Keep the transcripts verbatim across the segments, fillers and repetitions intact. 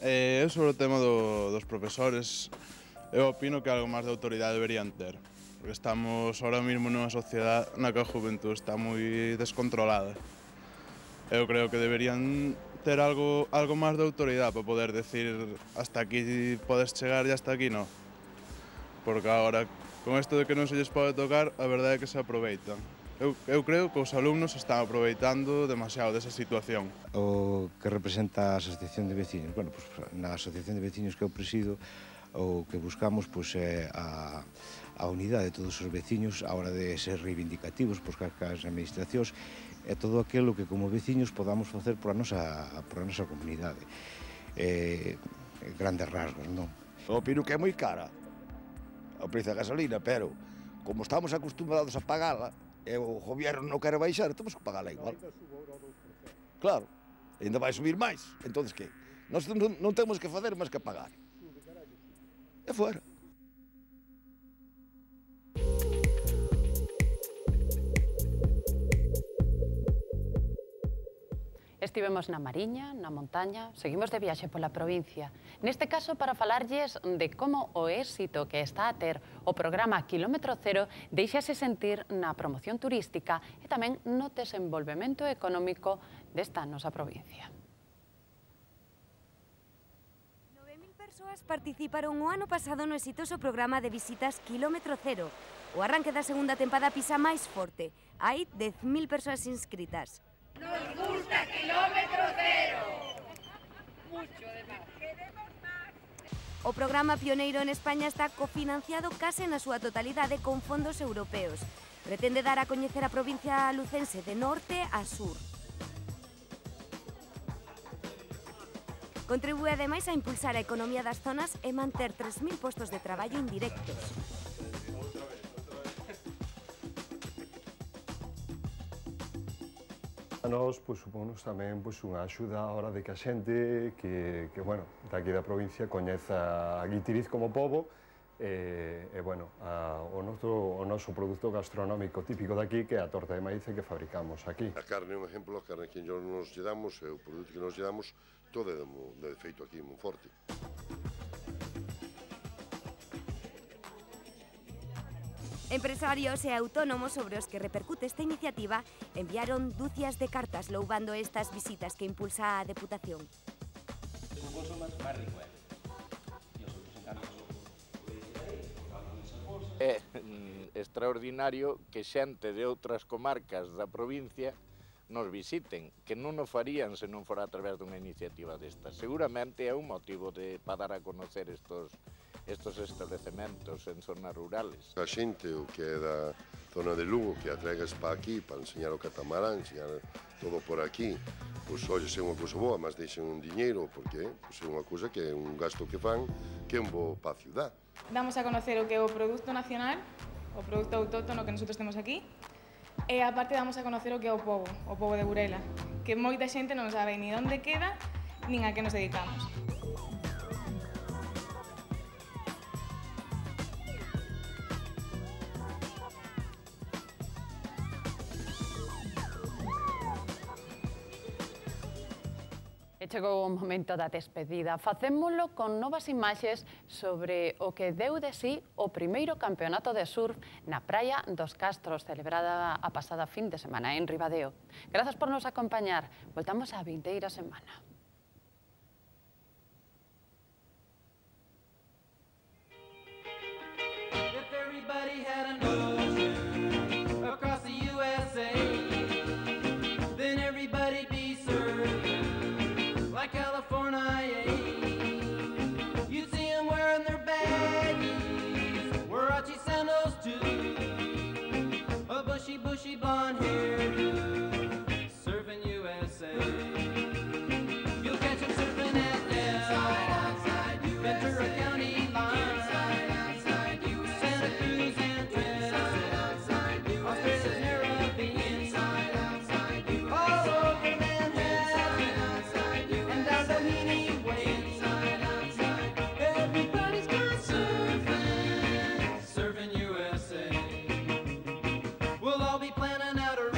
Eh, sobre o tema do, dos profesores, eu opino que algo máis de autoridade deberían ter, porque estamos ahora mesmo nunha sociedade na que a juventud está moi descontrolada. Eu creo que deberían ter algo, algo máis de autoridade para poder decir hasta aquí podes chegar e hasta aquí no. Porque agora, con isto de que non se lles pode tocar, a verdade é que se aproveitan. Eu, eu creo que os alumnos están aproveitando demasiado desa situación. O que representa a Asociación de Veciños? Bueno, pues, na Asociación de Veciños que eu presido, o que buscamos pues, é a, a unidade de todos os veciños a hora de ser reivindicativos por as administracións e todo aquilo que como veciños podamos facer por a nosa, por a nosa comunidade. Eh, grandes rasgos, non? Opino que é moi cara o precio da gasolina, pero como estamos acostumbrados a pagala, e o goberno non quere baixar, temos que pagala igual. Claro, ainda vai subir máis, entonces que? Nós non, non temos que fazer máis que pagar. E fora. Estivemos na Mariña, na montaña, seguimos de viaxe pola provincia. Neste caso, para falarlles de como o éxito que está a ter o programa Kilómetro Cero deixase sentir na promoción turística e tamén no desenvolvemento económico desta nosa provincia. nove mil persoas participaron o ano pasado no exitoso programa de visitas Kilómetro Cero. O arranque da segunda tempada pisa máis forte. Hai dez mil persoas inscritas. Nos gusta Kilómetro Cero. Mucho de más. Queremos más. O programa pioneiro en España está cofinanciado case na súa totalidade con fondos europeos. Pretende dar a coñecer a provincia lucense de norte a sur. Contribúe ademais a impulsar a economía das zonas e manter tres mil postos de traballo indirectos. A nós, pois, suponos tamén pois, unha axuda a hora de que a xente que, que bueno, daqui da provincia coñeza a Guitiriz como pobo e, e bueno, a, o, noso, o noso produto gastronómico típico daqui que é a torta de maíz que fabricamos aquí. A carne é un exemplo, a carne que nos lle damos, e o produto que nos lle damos, todo é de, de feito aquí en Monforte. Empresarios e autónomos sobre os que repercute esta iniciativa enviaron dúcias de cartas loubando estas visitas que impulsa a Deputación. É extraordinario que xente de outras comarcas da provincia nos visiten, que non o farían se non fora a través dunha iniciativa destas. Seguramente é un motivo de, para dar a conocer estos estos establecementos en zonas rurales. A xente o que é da zona de Lugo, que atregas para aquí, para enseñar o catamarán, enseñar todo por aquí, pois, oye, é unha cousa boa, mas deixen un diñeiro, porque pois, é unha cousa que é un gasto que fan, que é un bo para a ciudad. Damos a conocer o que é o produto nacional, o produto autóctono que nosotros temos aquí, e aparte damos a conocer o que é o pobo, o pobo de Burela, que moita xente non sabe ni onde queda, nin a que nos dedicamos. E chegou o momento da despedida. Facémolo con novas imaxes sobre o que deu de sí o primeiro campeonato de surf na Praia dos Castros, celebrada a pasada fin de semana en Ribadeo. Grazas por nos acompañar. Voltamos a vindeira semana. Bushy blonde hairdo, surfing U S A. You'll catch him surfing at Del, Ventura County line, Santa Cruz and Trent, Australia's Caribbean, all over Manhattan, and down Doheny Way. Everybody's gone surfing, surfing U S A. We'll all be planning out a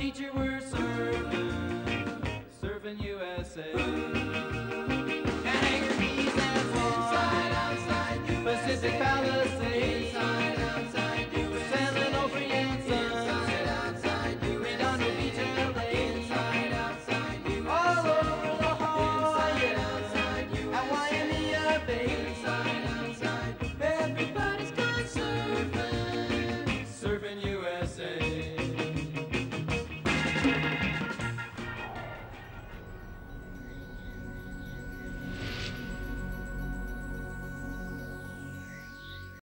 beach you were surfing, surfing U S A. And hang your knees and fall, Pacific Palisades.